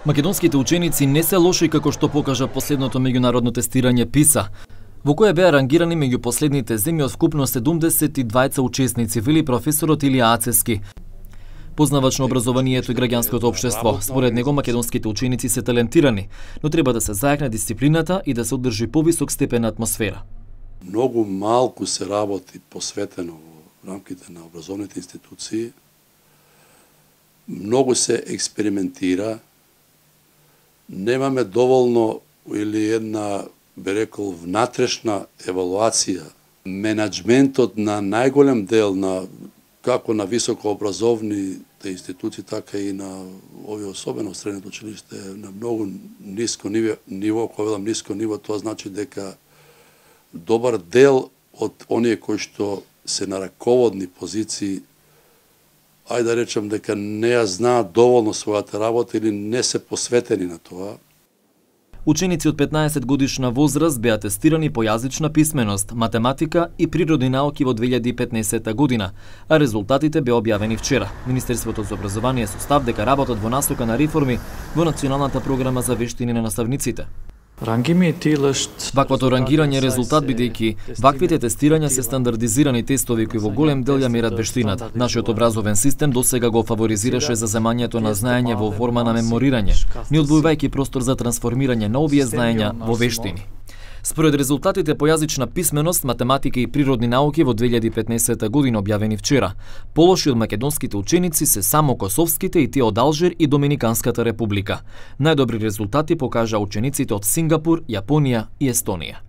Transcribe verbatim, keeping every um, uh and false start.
Македонските ученици не се лоши како што покажа последното меѓународно тестирање ПИСА, во кое беа рангирани меѓу последните земји од вкупно седумдесет и двајца учесници, вели професорот Илија Ацевски, познавач на образованието и граѓанското општество. Според него македонските ученици се талентирани, но треба да се зајакне дисциплината и да се одржи повисок степен на атмосфера. Многу малку се работи посветено во рамките на образовните институции. Многу се експериментира. Немаме доволно или една, би рекол, внатрешна евалуација. Менаџментот на најголем дел на како на високообразовните институции, така и на овие особено средното училиште на многу ниско ниво, ниво, кога велам ниско ниво, тоа значи дека добар дел од оние кои што се на раководни позиции, ајде да речем дека не ја знаат доволно својата работа или не се посветени на тоа. Ученици од петнаесет годишна возраст беа тестирани по јазична писменост, математика и природни науки во две илјади и петнаесетта година, а резултатите беа објавени вчера. Министерството за образование со став дека работат во насока на реформи во националната програма за вештини на наставниците. Ваквото рангирање е резултат бидејќи ваквите тестирања се стандардизирани тестови кои во голем дел ја мерат вештината. Нашиот образовен систем досега го фаворизираше за земањето на знаење во форма на меморирање, не одвојувајќи простор за трансформирање на овие знаења во вештини. Според резултатите по јазична писменост, математика и природни науки во две илјади и петнаесетта година објавени вчера, полоши од македонските ученици се само косовските и тие од Алжир и Доминиканската република. Најдобри резултати покажа учениците од Сингапур, Јапонија и Естонија.